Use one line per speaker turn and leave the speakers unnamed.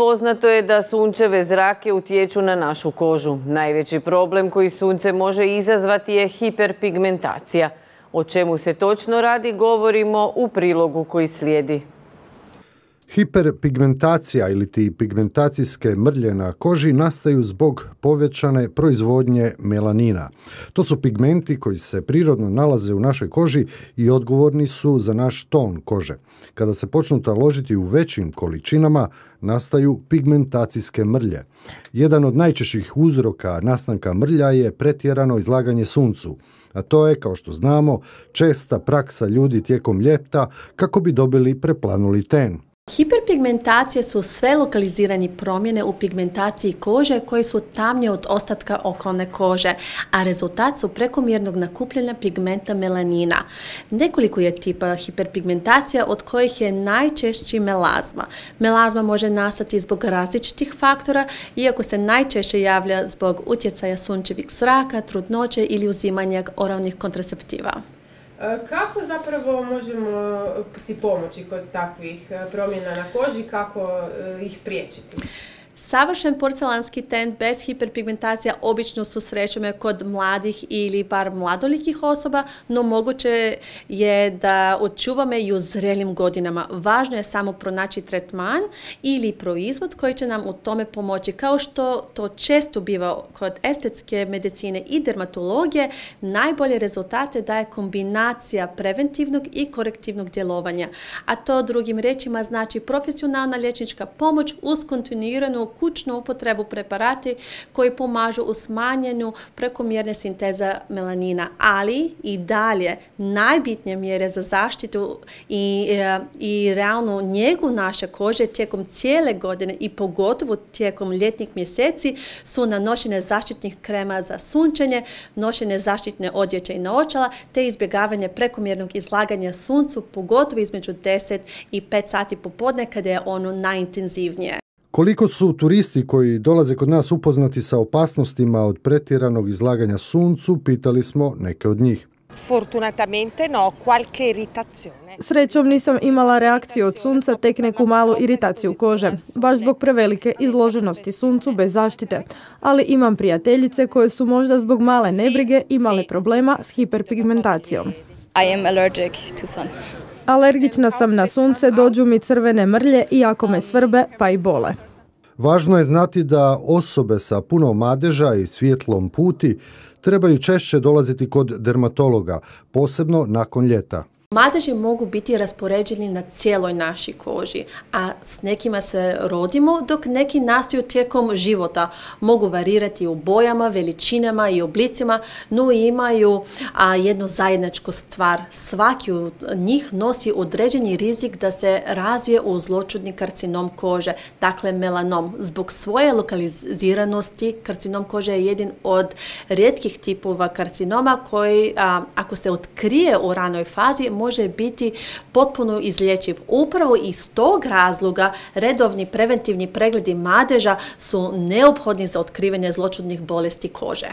Poznato je da sunčeve zrake utječu na našu kožu. Najveći problem koji sunce može izazvati je hiperpigmentacija. O čemu se točno radi govorimo u prilogu koji slijedi.
Hiperpigmentacija ili ti pigmentacijske mrlje na koži nastaju zbog povećane proizvodnje melanina. To su pigmenti koji se prirodno nalaze u našoj koži i odgovorni su za naš ton kože. Kada se počnu taložiti u većim količinama, nastaju pigmentacijske mrlje. Jedan od najčešćih uzroka nastanka mrlja je pretjerano izlaganje suncu, a to je, kao što znamo, česta praksa ljudi tijekom ljeta kako bi dobili preplanuli ten.
Hiperpigmentacije su sve lokalizirane promjene u pigmentaciji kože koje su tamnije od ostatka okolne kože, a rezultat su prekomjernog nakupljanja pigmenta melanina. Nekoliko je tipa hiperpigmentacija od kojih je najčešći melazma. Melazma može nastati zbog različitih faktora, iako se najčešće javlja zbog utjecaja sunčevih zraka, trudnoće ili uzimanja oralnih kontraceptiva.
Kako zapravo možemo si pomoći kod takvih promjena na koži, kako ih spriječiti?
Savršen porcelanski ten bez hiperpigmentacija obično susrećemo kod mladih ili bar mladolikih osoba, no moguće je da očuvamo i u zrelim godinama. Važno je samo pronaći tretman ili proizvod koji će nam u tome pomoći. Kao što to često biva kod estetske medicine i dermatologije, najbolje rezultate daje kombinacija preventivnog i korektivnog djelovanja. A to drugim riječima znači profesionalna liječnička pomoć uz kontinuiranu kućnu upotrebu preparati koji pomažu u smanjenju prekomjerne sinteza melanina, ali i dalje najbitnije mjere za zaštitu i realnu njegu naše kože tijekom cijele godine i pogotovo tijekom ljetnih mjeseci su nanošenje zaštitnih krema za sunčenje, nošenje zaštitne odjeće i naočala te izbjegavanje prekomjernog izlaganja suncu, pogotovo između 10 i 5 sati popodne kada je ono najintenzivnije.
Koliko su turisti koji dolaze kod nas upoznati sa opasnostima od pretjeranog izlaganja suncu, pitali smo neke od njih.
Fortunatamente no, qualche irritazione.
Srećom nisam imala reakciju od sunca, tek neku malu iritaciju kože, baš zbog prevelike izloženosti suncu bez zaštite. Ali imam prijateljice koje su možda zbog male nebrige imale problema s hiperpigmentacijom.
I am allergic to sun.
Alergična sam na sunce, dođu mi crvene mrlje iako me svrbe pa i bole.
Važno je znati da osobe sa puno madeža i svjetlom puti trebaju češće dolaziti kod dermatologa, posebno nakon ljeta.
Madeži mogu biti raspoređeni na cijeloj našoj koži, a s nekima se rodimo, dok neki nastaju tijekom života. Mogu varirati u bojama, veličinama i oblicima, no imaju jednu zajedničku stvar. Svaki od njih nosi određeni rizik da se razvije u zloćudni karcinom kože, dakle melanom. Zbog svoje lokaliziranosti karcinom kože je jedan od rijetkih tipova karcinoma koji, ako se otkrije u ranoj fazi, može biti potpuno izlječiv. Upravo iz tog razloga redovni preventivni pregledi madeža su neophodni za otkrivanje zloćudnih bolesti kože.